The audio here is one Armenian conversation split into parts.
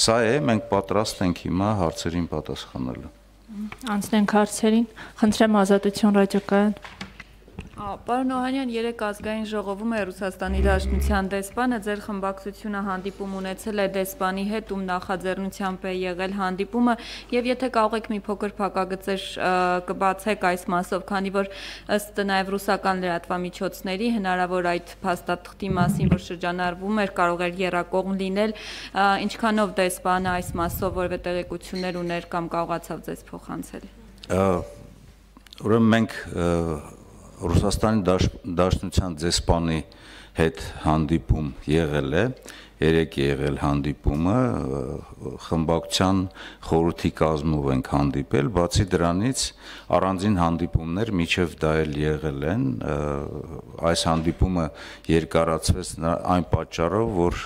Սա է, մենք պատրաստ ենք հիմա հարցերին պատասխանելու։ Անցնենք հարցերին, խնդրեմ Ազատություն ռադիոկայան։ Պարոն Օհանյան, երեկ ազգային ժողովում է Ռուսաստանի Դաշնության դեսպանը, ձեր խմբակցությունը հանդիպում ունեցել է դեսպանի հետ, ում նախաձեռնությամբ է եղել հանդիպումը, եւ եթե կարող եք մի փոքր փակագծեր կբացեք այս մասով, քանի որ ըստ նաեւ ռուսական լրատվամիջոցների հնարավոր այդ փաստաթղթի մասին, որ շրջանառվում էր, կարող էր եռակողմ լինել, ինչքանով դեսպանը այս մասով որևէ տեղեկություններ ուներ կամ կարողացավ ձեզ փոխանցել։ Ուրեմն մենք Ռուսաստանի Դաշնության դեսպանի հետ հանդիպում եղել է, երեք եղել հանդիպումը, խմբակցության խորհրդի կազմով ենք հանդիպել, բացի դրանից առանձին հանդիպումներ միջև դա էլ եղել են, այս հանդիպումը երկարացվեց այն պատճառով, որ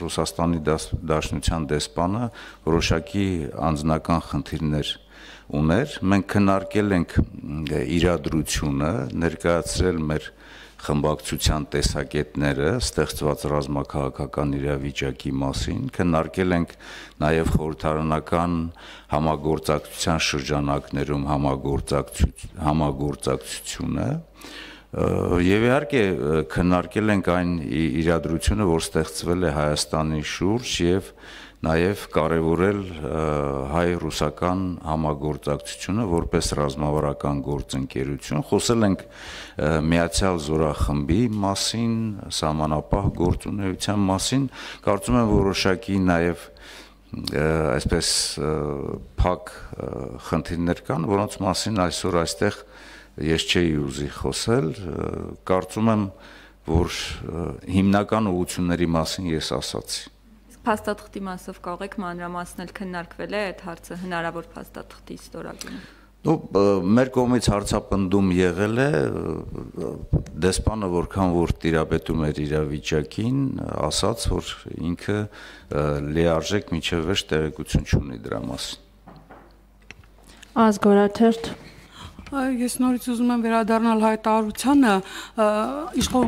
Ռուսաստանի Դաշնության դեսպանը որոշակի անձնական խնդիրներ ուներ, մենք քննարկել ենք իրադրությունը, ներկայացրել մեր խմբակցության տեսակետները ստեղծված ռազմաքաղաքական իրավիճակի մասին, քննարկել ենք նաև խորհրդարանական համագործակցության շրջանակներում համագործակցությունը եւ իհարկե քննարկել ենք այն իրադրությունը, որ ստեղծվել է Հայաստանի շուրջ եւ նաև կարևորել հայ-ռուսական համագործակցությունը որպես ռազմավարական գործընկերություն, խոսել ենք Միացյալ զորախմբի մասին, սահմանապահ գործունեության մասին, կարծում եմ որոշակի նաև այսպես փակ խնդիրներ կան, որոնց մասին այսօր այստեղ ես չէի ուզի խոսել, կարծում եմ, որ հիմնական ուղղությունների մասին ես ասացի։ Փաստաթղթի մասով կարող եք մանրամասնել, քննարկվել է այդ հարցը, հնարավոր փաստաթղթի ստորագրումը։ Մեր կողմից հարցապնդում եղել է, դեսպանը որքան որ տիրապետում էր իրավիճակին, ասաց, որ ինքը լիարժեք մինչև վերջ տեղեկություն չունի դրա մասին։ Ազգորաթերթ։ Ես նորից ուզում եմ վերադառնալ հայտարարությանը, իշխող